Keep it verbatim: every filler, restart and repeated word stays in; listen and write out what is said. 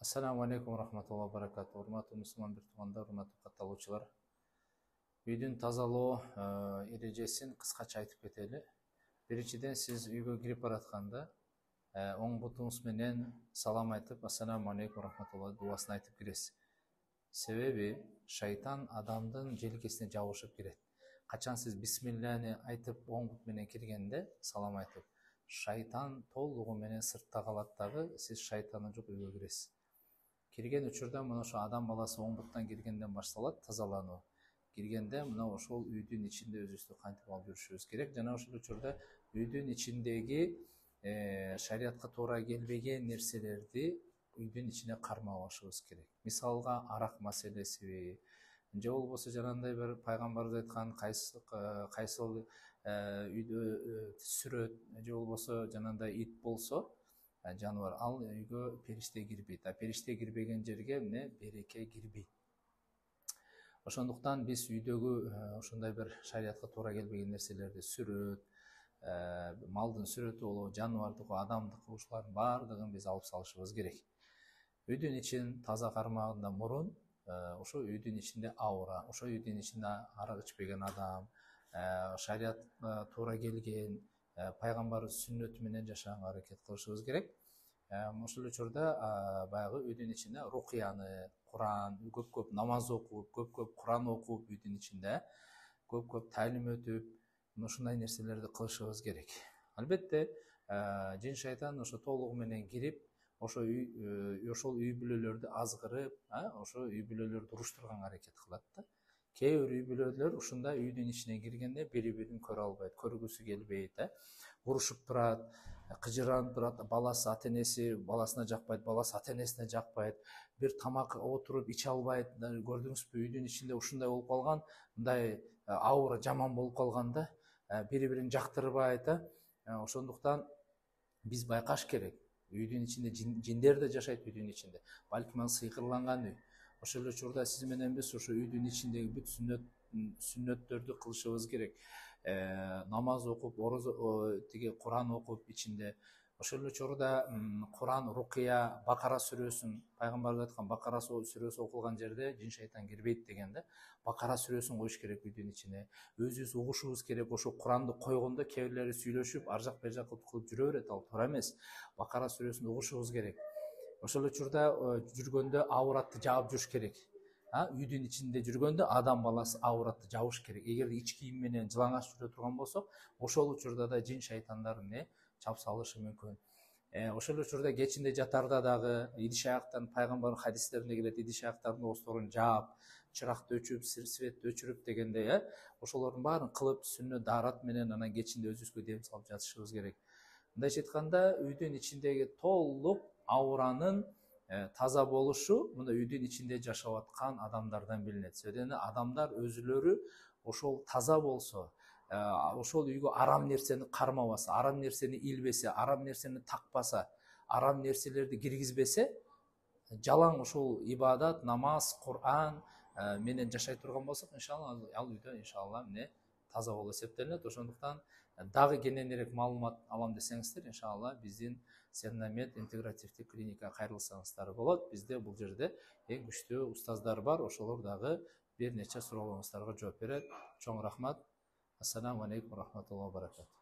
Ассаламу алейкум рахматуллахи ва баракату. Урматтуу мусулман бир туугандар, урматтуу катталуучулар. Үйдүн тазалоо эрежесин кыскача айтып кетели. Биринчиден, сиз үйгө кирип баратканда оң бутуңуз менен салам айтып, ассаламу алейкум рахматуллахи дубасын айтып киресиз. Себеби шайтан адамдын желкесине жабышып кирет. Качан сиз бисмиллахни айтып оң бут менен киргенде салам айтып, шайтан толугу менен сыртта калат дагы, сиз шайтаны жок үйгө киресиз. Кирген учурда мына ошо адам баласы оң буттан киргенден башталат тазалануу. Киргенде мына ошол үйдүн ичинде өзүбүздү кантип алып жүрүшүбүз керек. Жана ошол учурда үйдүн ичиндеги шариятка туура келбеген нерселерди үйдүн ичине кармабашыбыз керек. Мисалга арак маселесиби, же болбосо жанагындай бир пайгамбарыбыз айткан кайсы кайсы үйдө сүрөт, же болбосо жанагындай ит болсо, жаныбар, ал үйгө периште кирбейт. А периште кирбеген жерге эмне береке кирбейт. Ошондуктан биз үйдөгү ошондой бир шариятка туура келбеген нерселерди, сүрөт, малдын сүрөтү болобу, жаныбардыкы, адамдыкы, ушулардын баардыгын биз алып салышыбыз керек. Үйдүн ичин таза кармагандан мурун ошо үйдүн ичинде аура, ошо үйдүн ичинде арак ичпеген адам, шариятка туура келген, пайгамбарыбыз сүннөтү менен жашаганга аракет кылышыбыз керек. Ошол учурда баягы үйдүн ичинде рукуяны, Куран, көп-көп намаз окуп, көп-көп Куран окуп, үйдүн ичинде көп-көп талим өтүп, ушундай нерселерди кылышыбыз керек. Албетте, жин шайтан ошо толугу менен кирип, ошо үй ошол үй бүлөлөрдү азгырып, ошо үй бүлөлөрдү уруштурганга аракет кылат да. Кээ бир үй бүлөлөр ушундай үйдүн ичине киргенде бири-бирин көрө албайт, көргүсү келбейт, урушуп турат, кыжыранып турат, баласы ата-энеси баласына жакпайт, баласы ата-энесине жакпайт, бир тамак отуруп иче албайт. Көрдүңүзбү, үйдүн ичинде ушундай болуп калган, мындай аура жаман болуп калган да, бири-бирин жактырбайт. Ошондуктан биз байкаш керек. Үйдүн ичинде жиндер да жашайт, үйдүн ичинде. Балким ал сыйкырланган үй. Ошол учурда сиз менен биз ошо үйдүн ичиндеги бүт сүннөт сүннөттөрдү кылышыбыз керек. Намаз окуп, орозо тиги Куран окуп ичинде. Ошол учурда Куран, рукуя, Бакара сүрөсүн, пайгамбарыбыз айткан Бакара сүрөсү окулган жерде жин шайтан кирбейт деген да. Бакара сүрөсүн коюш керек үйдүн ичине. Өзүбүз угушубуз керек. Ошо Куранды койгондо кээ бирлери сүйлөшүп, ар жак бер жак кылып жүрө берет, ал туура эмес. Бакара сүрөсүн угушубуз керек. Ошол учурда жүргөндө ауратты жаап жүрүш керек. Үйдүн ичинде жүргөндө адам баласы ауратты жабыш керек. Эгерде ич кийим менен жылаңач жүрө турган болсок, ошол учурда да жин шайтандар эмне чап салышы мүмкүн. Ошол учурда кечинде жатарда дагы идиш аяктан пайгамбар хадистеринде келет, идиш аяктардын оозторун жаап, чыракты өчүрүп, светти өчүрүп дегендей, ошолордун баарын кылып, сүннөт даарат менен анан кечинде өзүбүзгө дем салып жатышыбыз керек. Мындайча айтканда, үйдүн ичиндеги толук ауранын таза болушу мына үйдүн ичинде жашап аткан адамдардан билинет. Себеби адамдар өзүлөрү ошол таза болсо, ошол үйгө арам нерсени кармабаса, арам нерсени илбесе, арам нерсени такпаса, арам нерселерди киргизбесе, жалаң ошол ибадат, намаз, Куран менен жашай турган болсок, иншалла ал үйдө иншалла эмне таза болуп эсептелинет. Ошондуктан дагы кененирээк маалымат алам десеңиздер, иншалла биздин Сернамед интегративдик клиника кайрылсаңыздар болот. Бизде бул жерде эң күчтүү устаздар бар, ошолор дагы бир нече суроолоруңуздарга жооп берет. Чоң рахмат. Ассаламу алейкум рахматуллахи ва баракату.